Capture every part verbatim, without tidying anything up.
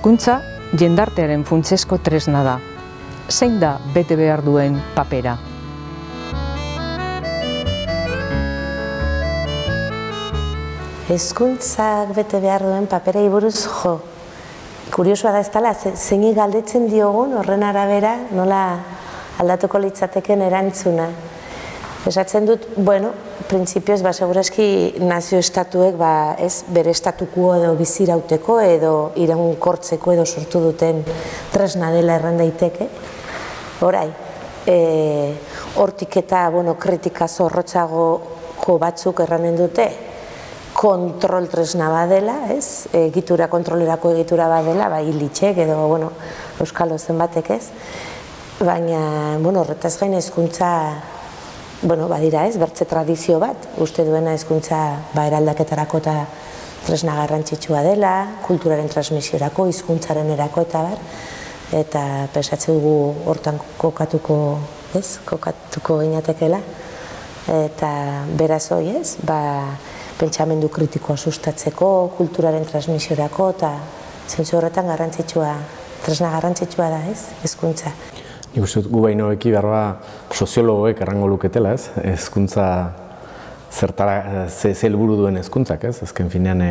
Hezkuntza jendartearen funtsezko tresna da. Zein da bete behar duen papera? Hezkuntzak bete behar duen paperei buruz jo. Kuriosoa da ez dela, zeini galdetzen diogun horren arabera nola aldatuko litzateken erantzuna. Esatzen dut, bueno, printzipioz, ba, segurazki nazio estatuek, ba, ez, bere estatuko edo bizirauteko edo iraunkortzeko edo sortu duten tresna dela erran daiteke. Orai, hortik eta, bueno, kritika zorrotzagoko batzuk erranen dute, kontrol tresna badela, ez, egitura, kontrolerako egitura badela, ba, hilitxek edo, bueno, euskal ozen batek ez, baina, bueno, horretaz gain hezkuntza, bueno, badira ez, bertze tradizio bat, uste duena hezkuntza ba, eraldaketarako eta tresna garrantzitsua dela, kulturaren transmisiorako, hizkuntzaren erako eta bar, eta pesatze dugu hortan kokatuko, ez, kokatuko inatekela, eta beraz hoi ez, ba, pentsamendu kritikoa sustatzeko, kulturaren transmisiorako, eta zentzu horretan garrantzitsua, tresna garrantzitsua da ez, hezkuntza. Nik uste dut gu baino eki behar soziologoek errango luketela, ez? Hezkuntza zertara, ze helburu duen hezkuntzak, ez? Azken finean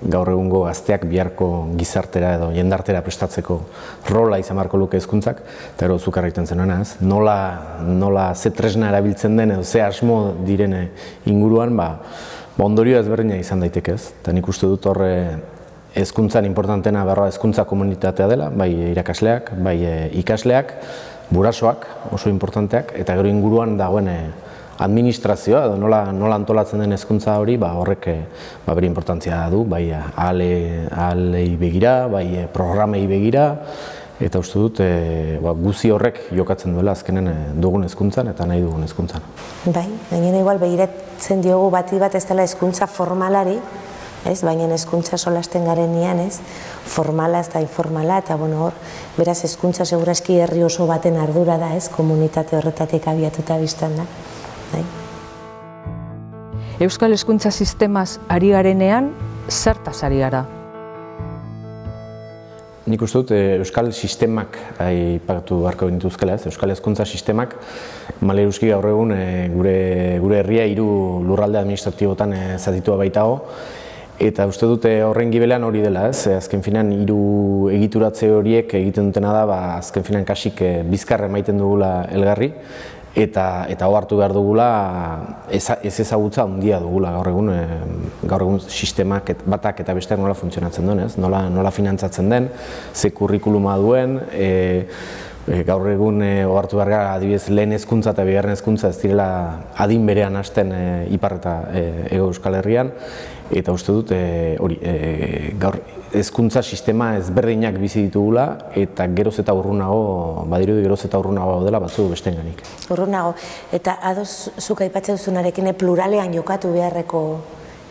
gaur egungo gazteak biharko gizartera edo jendartera prestatzeko rola izan beharko luke hezkuntzak, eta gero zuk egiten zenuena, ez? Nola, nola ze tresna erabiltzen den edo ze asmo direne inguruan, ba, ba ondorio ezberdina izan daiteke, ez? Eta nik uste dut horre hezkuntzan importantena berroa hezkuntza komunitatea dela, bai irakasleak, bai ikasleak, burasoak oso importanteak, eta gero inguruan dagoen administrazioa, edo nola, nola antolatzen den hezkuntza hori, ba, horrek ba, bere importantzia du, bai ahalei begira, bai programei begira, eta uste dut e, ba, guzi horrek jokatzen duela azkenen dugun hezkuntzan eta nahi dugun hezkuntzan. Bai, gainera igual begiratzen diogu bati bat ez dela hezkuntza formalari, ez, baina hezkuntza solasten garenean, ez, formala ez da informala, eta bueno, hor, beraz hezkuntza segurazki herri oso baten ardura da, ez, komunitate horretatik abiatuta biztan da. Bai. Euskal hezkuntza sistemaz ari garenean, zertaz ari gara? Nik uste dut euskal sistemak aipatu beharko dituzkela, ez, euskal hezkuntza sistemak maleruski gaur egun gure, gure herria hiru lurralde administratibotan zatitua baitago, eta uste dute horren gibelean hori dela, ez? Azken finean hiru egituratze horiek egiten dutena da, ba, azken finean kasik bizkarra emaiten dugula elgarri, eta eta ohartu behar dugula ez ezagutza handia dugula gaur egun, gaur egun sistemak batak eta besteak nola funtzionatzen duen, ez? Nola, nola finantzatzen den, ze kurrikuluma duen, e, e, gaur egun ohartu behar gara adibidez lehen hezkuntza eta bigarren hezkuntza ez direla adin berean hasten e, ipar eta e, Hego Euskal Herrian, eta uste dut hori e, gaur hezkuntza sistema ezberdinak bizi ditugula eta geroz eta urrunago, badirudi geroz eta urrunago dela batzu besteenganik. Urrunago, eta ados zuk aipatzen duzunarekin pluralean jokatu beharreko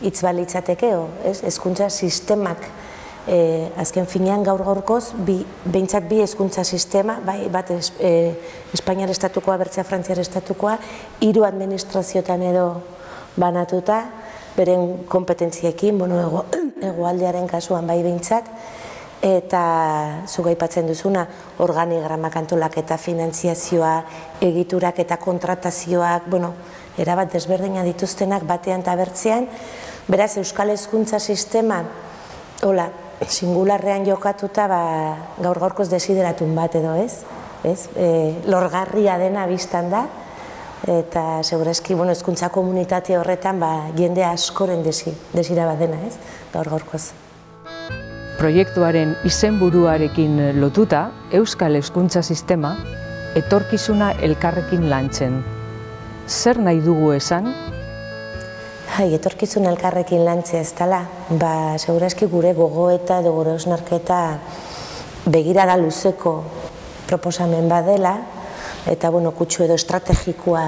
hitz balitzatekeo, ez? Hezkuntza sistemak e, azken finean gaur gaurkoz bi, behintzat bi hezkuntza sistema, bai, bat es, e, Espainiar estatukoa, bertzea Frantziar estatukoa, hiru administraziotan edo banatuta, beren kompetentziekin, bueno, hegoaldearen kasuan bai behintzat, eta zuk aipatzen duzuna, organigramak antolaketa, finantziazioa, egiturak eta kontratazioak, bueno, erabat desberdina dituztenak batean eta bertzean, beraz euskal hezkuntza sistema, hola, singularrean jokatuta, ba, gaur gaurkoz desideratun bat edo ez, ez, e, lorgarria dena biztan da, eta segurazki, bueno, hezkuntza komunitate horretan, ba, jende askoren desi, desira bat dena, ez, gaur gaurkoz. Proiektuaren izenburuarekin lotuta, euskal hezkuntza sistema etorkizuna elkarrekin lantzen. Zer nahi dugu esan? Hai, etorkizuna elkarrekin lantzea ez dela, ba, segurazki gure gogoeta edo gure osnarketa begirada luzeko proposamen badela, eta, bueno, kutsu edo estrategikoa,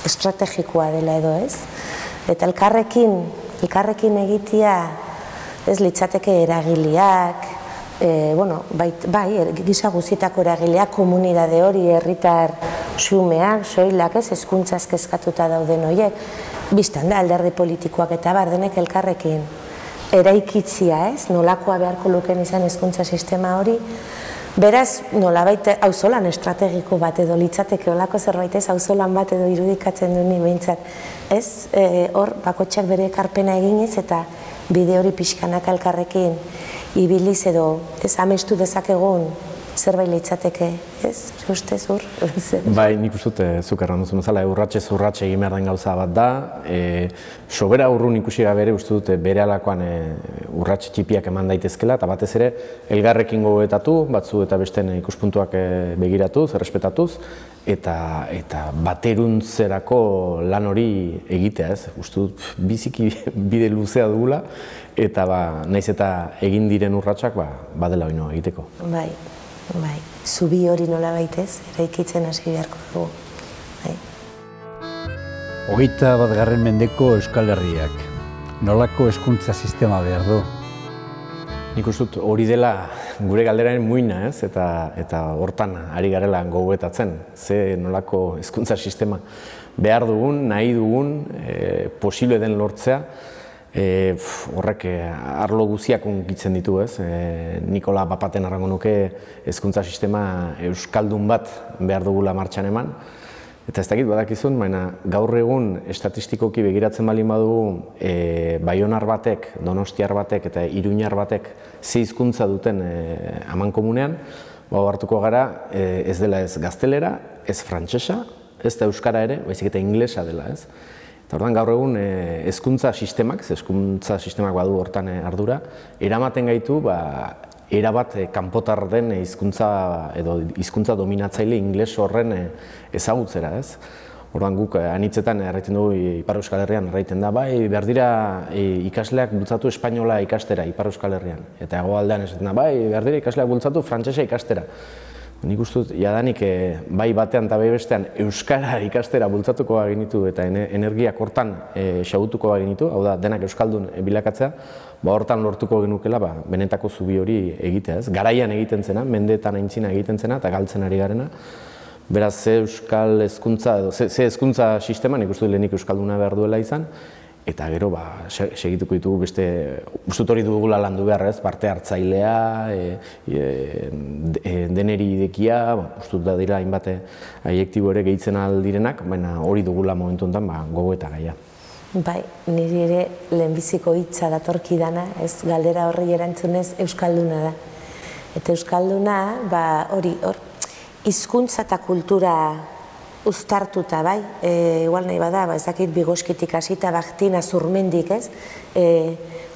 estrategikoa dela edo ez. Eta elkarrekin, elkarrekin egitea ez litzateke eragileak, e, bueno, bai, bai, gisa guztietako eragileak, komunidade hori, herritar xumeak, soilak ez, hezkuntzaz kezkatuta dauden horiek, biztan da alderdi politikoak eta bar denek elkarrekin eraikitzia, ez? Nolakoa beharko luken izan hezkuntza sistema hori. Beraz, nolabait auzolan estrategiko bat edo litzateke olako zerbait ez, auzolan bat edo irudikatzen du ni behintzat. Ez, hor, bakotxak bere ekarpena eginez eta bide hori pixkanaka elkarrekin ibiliz edo ez amestu dezakegun zerbait litzateke, ez? Ustez hor? Bai, nik uste dut zuk erran duzu bezala, urratxez urratxe egin behar den gauza bat da. Sobera urrun ikusi gabe ere uste dut bere alakoan urratxe txipiak eman daitezkela, eta batez ere elgarrekin gogoetatu, batzu eta besten ikuspuntuak begiratuz, errespetatuz, eta bateruntzerako lan hori egitea, ez? Uste dut biziki bide luzea dugula, eta naiz eta egin diren urratxak badela oino egiteko. Bai. Bai, zubi hori nola baitez, eraikitzen hasi beharko dugu. Hogeita batgarren mendeko Euskal Herriak, nolako hezkuntza sistema behar du? Nik uste dut hori dela gure galderaren muina, ez? Eta hortan ari garela gogoetatzen, ze nolako hezkuntza sistema behar dugun, nahi dugun, posible den lortzea, horrek arlo guziak unkitzen ditu, ez? Nikola Papaten arrango nuke hezkuntza sistema euskaldun bat behar dugula martxan eman. Eta ez dakit badakizun, baina gaur egun estatistikoki begiratzen baldin badugu Baionar batek, Donostiar batek eta Iruñar batek ze hizkuntza duten amankomunean, hartuko gara ez dela ez gaztelera, ez frantsesa, ez da euskara ere, baizik eta inglesa dela, ez? Eta orduan gaur egun hezkuntza sistemak, hezkuntza sistemak badu hortan ardura, eramaten gaitu erabat kanpotar den hizkuntza edo hizkuntza dominatzaile ingles horren ezagutzera, ez? Orduan guk anitzetan erraiten dugu Ipar Euskal Herrian erraiten da, bai, behar dira ikasleak bultzatu espainola ikastera Ipar Euskal Herrian. Eta hegoaldean esaten da, bai, behar dira ikasleak bultzatu frantsesa ikastera. Nik uste dut, jadanik bai batean eta bai bestean euskara ikastera bultzatuko bagenitu eta energiak hortan xabutuko bagenitu, hau da, denak euskaldun bilakatzea, hortan lortuko genukela benetako zubi hori egitea, ez? Garaian egiten zena, mendeetan aintzina egiten zena eta galtzen ari garena. Beraz, ze euskal hezkuntza edo ze hezkuntza sistema, nik uste dut lehenik euskalduna behar duela izan, eta gero segituko ditugu beste, uste dut hori dugula landu behar, ez? Parte hartzailea, deneri idekia, uste dut da dira hainbat adjektibo ere gehitzen aldirenak, baina hori dugula momentu honetan gogo eta gaia. Bai, niri ere lehenbiziko hitza datorkidana, ez galdera horri erantzunez euskalduna da. Eta euskalduna, hori, hor, hizkuntza eta kultura uztartuta, bai, igual nahi bada, ez dakit Bigoskitik hasita Baktina Zurmendik, ez,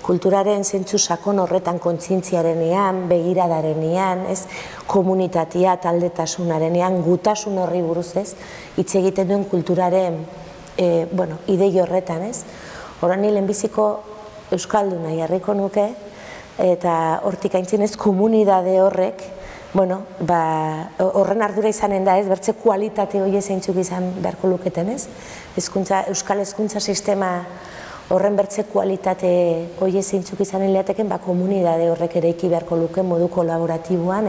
kulturaren zentzu sakon horretan kontzientziarenean, begiradarenean, ez, komunitatea, taldetasunarenean, gutasun horri buruz, ez, hitz egiten duen kulturaren, bueno, idei horretan, ez. Horan ni lehenbiziko euskalduna jarriko nuke, eta hortik aintzinez komunidade horrek, bueno, horren ardura izanen da, ez, bertze kualitate hori zeintzuk izan beharko luketen, ez? Euskal hezkuntza sistema horren bertze kualitate hori zeintzuk izanen lehateken, komunidade horrek ere iki beharko luke modu kolaboratiboan,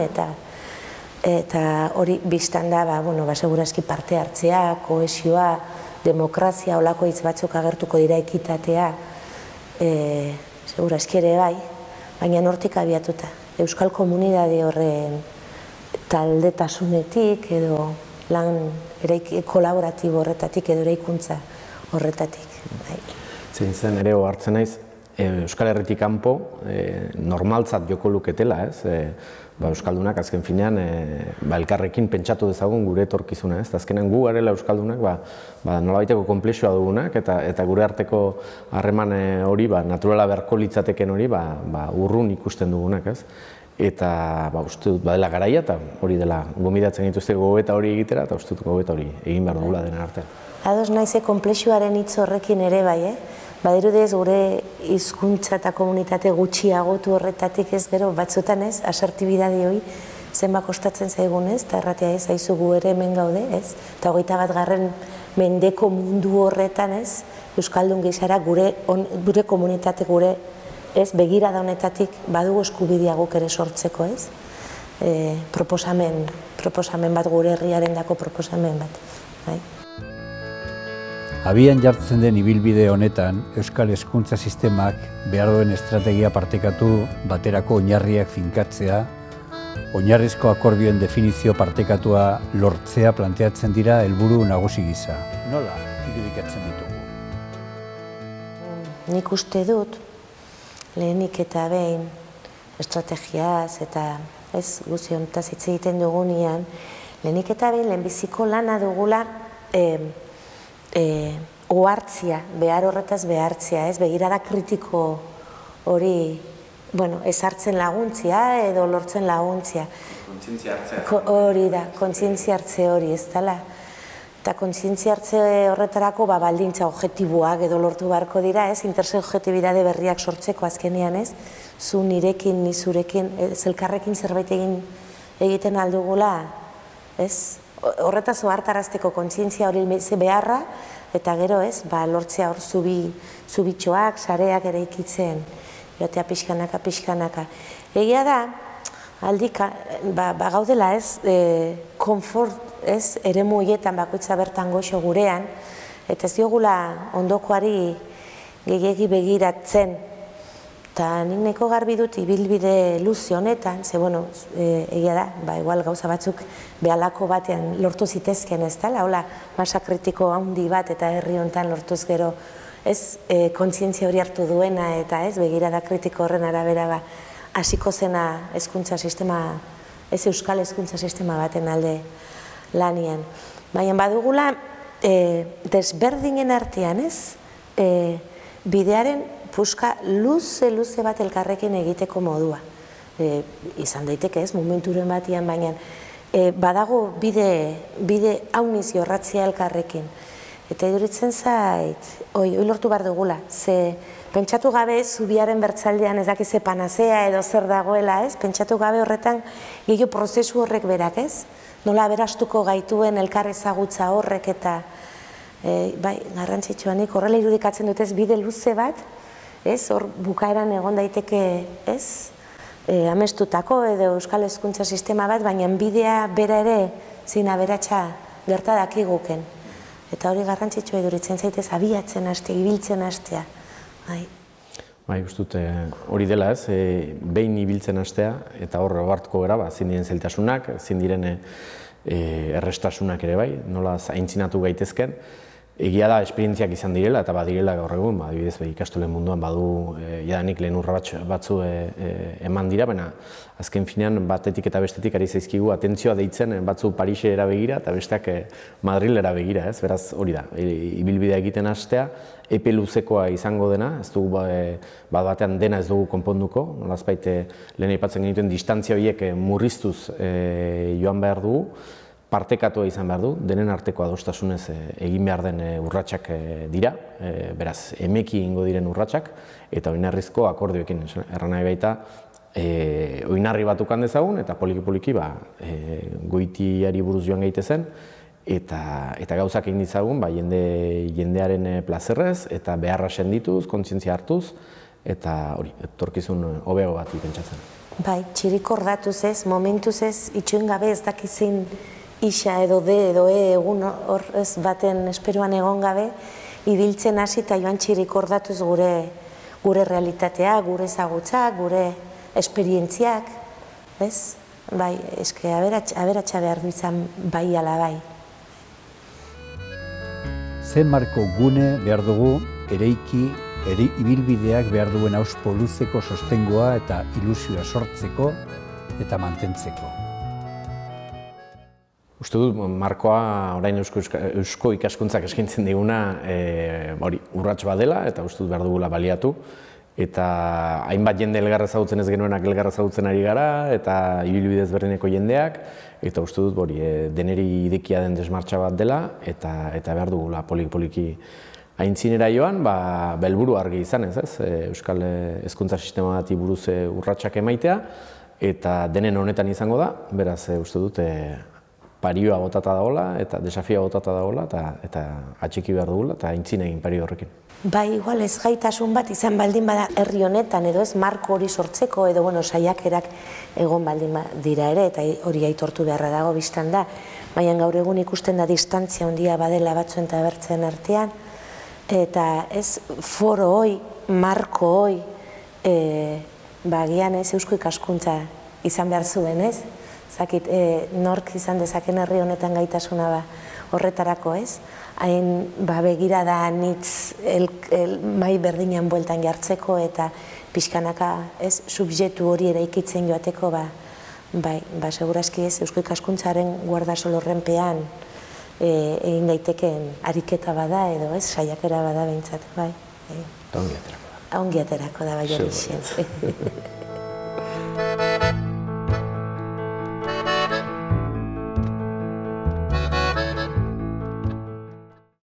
eta hori biztan da, segurazki parte hartzea, kohesioa, demokrazia, olako hitz batzuk agertuko dira ekitatea, segurazki ere bai, baina nortik abiatuta. Euskal komunidade horren taldetasunetik edo lan kolaboratibo horretatik edo eraikuntza horretatik. Zein zen ere hartzen naiz, Euskal Herritik kanpo normaltzat joko luketela, ez? Euskaldunak azken finean elkarrekin pentsatu dezagun gure etorkizuna, ez? Azkenean gu garela Euskaldunak nolabaiteko konplexua dugunak eta gure arteko harreman hori, naturala beharko litzateken hori, urrun ikusten dugunak, ez? Eta uste dut badela garaia eta hori dela gomidatzen dituzte gogoeta hori egitera eta uste dut gogoeta hori egin behar dugula dena artean. Ados naize konplexuaren hitz horrekin ere bai, eh? Badirudez gure hizkuntza eta komunitate gutxiagotu horretatik ez gero batzutan ez, asertibidade hori zenba kostatzen zaigun ez, eta erratea ez, haizu gu ere hemen gaude ez, eta hogeita bat garren mendeko mundu horretan ez, Euskaldun gizara gure komunitate gure ez, begirada honetatik badugu eskubidea guk ere sortzeko ez, proposamen, proposamen bat gure herriaren dako proposamen bat, bai. Abian jartzen den ibilbide honetan, Euskal Hezkuntza Sistemak behar duen estrategia partekatu baterako oinarriak finkatzea, oinarrizko akordioen definizio partekatua lortzea planteatzen dira helburu nagusi gisa. Nola irudikatzen ditugu? Nik uste dut, lehenik eta behin estrategiaz eta ez guzti honetaz hitz egiten dugunean, lehenik eta behin lehenbiziko lana dugula ohartzia, behar horretaz behartzia, ez begirada kritiko hori ezartzen laguntzia edo lortzen laguntzia. Kontzientzia hartzea. Hori da, kontzientzia hartze hori, ez dela. Eta kontzientzia hartze horretarako baldintza objektiboak edo lortu beharko dira, ez, intersubjektibidade berriak sortzeko azkenean, ez, zu nirekin, ni zurekin, elkarrekin zerbait egiten aldugula, ez, horretaz ohartarazteko kontzientzia hori beharra, eta gero, ez, lortzea hor zubitxoak, sareak ere ikitzen, joatea pixkanaka, pixkanaka. Egia da, aldik, gaudela, ez, konfort, ez, ere muietan bakoitza bertan goxo gurean, eta ez diogula ondokoari gehiegi begiratzen. Eta nik nahiko garbi dut ibilbide luze honetan, ze, bueno, egia da, ba, igual gauza batzuk behalako batean lortu zitezken ez dela, hola, masa kritiko handi bat eta herri honetan lortuz gero, ez, kontzientzia hori hartu duena eta ez, begirada kritiko horren arabera ba, hasiko zena hezkuntza sistema, ez euskal hezkuntza sistema baten alde lanian. Baina badugula, desberdinen artean, ez, bidearen puska luze-luze bat elkarrekin egiteko modua. Izan daiteke ez, momenturen batian, baina badago bide hauniz jorratzia elkarrekin. Eta iduritzen zait, oi lortu behar dugula, ze pentsatu gabe zubiaren bertzaldean ez dakize panazea edo zer dagoela, ez? Pentsatu gabe horretan gehiago prozesu horrek berak, ez? Nola aberastuko gaituen elkar ezagutza horrek eta bai, garrantzitsuanik horrela irudikatzen dut ez bide luze bat, ez? Hor bukaeran egon daiteke, ez? Amestutako edo euskal hezkuntza sistema bat, baina bidea bera ere zin aberatsa gerta dakiguken. Eta hori garrantzitsua iduritzen zaitez, abiatzen hastea, ibiltzen hastea. Bai, ustut, hori dela ez, behin ibiltzen hastea, eta hor hartuko gara, zin diren zailtasunak, zin diren errestasunak ere bai, nola aintzinatu gaitezken. Egia da, esperientziak izan direla, eta badirela gaur egun, adibidez, ikastolen munduan badu jadanik lehen urra batzu eman dira, baina azken finean batetik eta bestetik ari zaizkigu atentzioa deitzen batzu Parisera begira eta besteak Madrilera begira, ez? Beraz, hori da, ibilbidea egiten hastea, epe luzekoa izango dena, ez dugu bat batean dena ez dugu konponduko, nolazbait lehen aipatzen genituen distantzia horiek murriztuz joan behar dugu, partekatua izan behar du, denen arteko adostasunez egin behar den urratsak dira, beraz, emeki ingo diren urratsak, eta oinarrizko akordioekin, erran nahi baita, oinarri bat ukan dezagun, eta poliki-poliki goitiari buruz joan gaitezen, eta gauzak egin ditzagun jendearen plazerrez, eta beharra sendituz, kontzientzia hartuz, eta hori, etorkizun hobego bat pentsatzen. Bai, txirikor datuz ez, momentuz ez, itxoin gabe ez dakizin isa edo de edo e egun hor ez baten esperoan egon gabe, ibiltzen hasi eta joan txirikordatuz gure gure realitatea, gure ezagutzak, gure esperientziak, ez? Bai, eske aberatsa behar du izan bai ala bai. Ze marko gune behar dugu ereiki, ere ibilbideak behar duen auspo luzeko sostengoa eta ilusioa sortzeko eta mantentzeko. Uste dut, markoa orain eusko ikaskuntzak eskaintzen diguna urrats bat dela, eta uste dut behar dugula baliatu. Eta hainbat jende elgarra ezagutzen ez genuenak elgarra ezagutzen ari gara, eta ibilbide ezberdineko jendeak, eta uste dut deneri idekia den desmartxa bat dela, eta behar dugula poliki-poliki aintzinera joan, helburu argi izan ez, euskal hezkuntza sistema bati buruz urratsak emaitea, eta denen honetan izango da, beraz uste dut parioa botata dagoela, eta desafioa botata dagoela, eta atxiki behar dugula, eta aintzin egin pario horrekin. Bai, igual ez gaitasun bat izan baldin bada herri honetan, edo ez marko hori sortzeko, edo bueno, saiakerak egon baldin dira ere, eta hori aitortu beharra dago biztan da, baina gaur egun ikusten da distantzia handia badela batzuen eta bertzen artean, Eta ez foro hoi, marko hoi, bagian ez eusko ikaskuntza izan behar zuen, ez? Zakit, nork izan dezaken herri honetan gaitasuna ba horretarako, ez? Hain begirada anitz mai berdinan bueltan jartzeko eta pixkanaka, ez, subjektu hori eraikitzen joateko, ba, bai, ba, segurazki ez, eusko ikaskuntzaren guardasolorrenpean egin daiteken ariketa bada edo, ez, saiakera bada behintzat, bai. Ongi aterako da. Ongi aterako da, bai hori.